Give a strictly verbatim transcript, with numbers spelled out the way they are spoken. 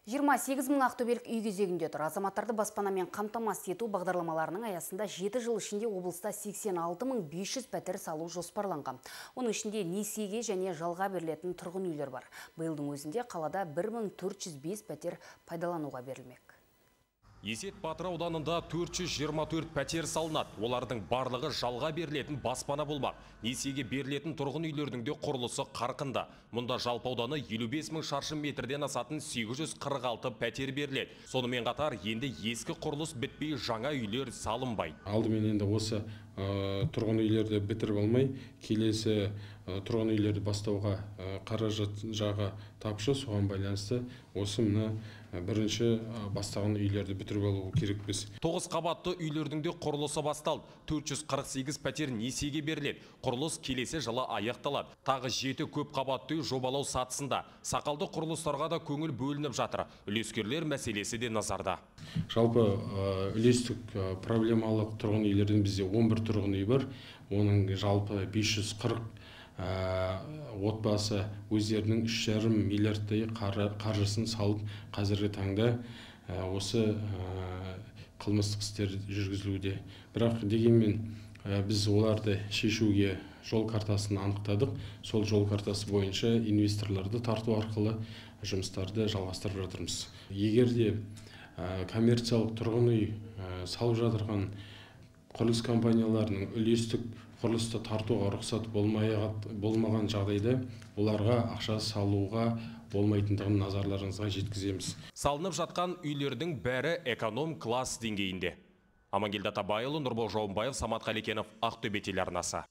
жиырма сегіз мың ақтөбелік үй кезегінде тұр. Азаматтарды баспанамен қамтамасыз ету бағдарламаларының аясында жеті жыл ішінде облыста сексен алты мың бес жүз пәтер салу жоспарланған. Оның ішінде несиеге және жалға берілетін тұрғын үйлер бар. Биылдың өзінде қалада бір мың төрт жүз бес пәтер пайдалануға берілмек. Есет Батыр ауданында төрт жүз жиырма төрт пәтер салынады. Олардың барлығы жалға берілетін баспана болмақ. Несиеге берілетін тұрғын үйлердің де құрылысы қарқынды. Мұнда жалпы ауданы елу бес мың шаршы метрден асатын сегіз жүз қырық алты пәтер беріледі. Сонымен қатар енді ескі құрылыс бітпей жаңа үйлер салынбайды. Алдымен енді осы ә, тұрғын үйлерді бітіріп алмай, келесі ә, тұрғын үйлерді бастауға ә, қаражат жағы тапшы, соған байланысты осы мына бірінші бастаған үйлерді бітіріп алу керекпіз. тоғыз қабатты үйлердің де құрылысы басталды. төрт жүз қырық сегіз пәтер несиеге беріледі. Құрылыс келесі жылы аяқталады. Тағы жеті көп қабатты үй жобалау сатысында. Сақалды құрылыстарға да көңіл бөлініп жатыр. Үлескерлер мәселесі де назарда. Жалпы үлестік проблемалық тұрғын үйлерден бізде он бір тұрғын үй бар. Оның жалпы бес жүз қырық отбасы өздерінің үш жарым миллиардтай қаржысын салып, қазіргі таңда осы қылмыстық істер жүргізілуде. Бірақ дегенмен біз оларды шешуге жол картасын анықтадық. Сол жол картасы бойынша инвесторларды тарту арқылы жұмыстарды жалғастырып жатырмыз. Егер де коммерциялық тұрғын үй салып жатырған құрылыс компанияларының үлестік құрылысты тартуға рұқсат болмаған жағдайда оларға ақша салуға болмайтындығын назарларыңызға жеткіземіз. Салынып жатқан үйлердің бәрі эконом класс деңгейінде. Амангелді Атабайұлы, Нұрбол Жауынбаев, Самат Қалекенов, Ақтөбе телеарнасы.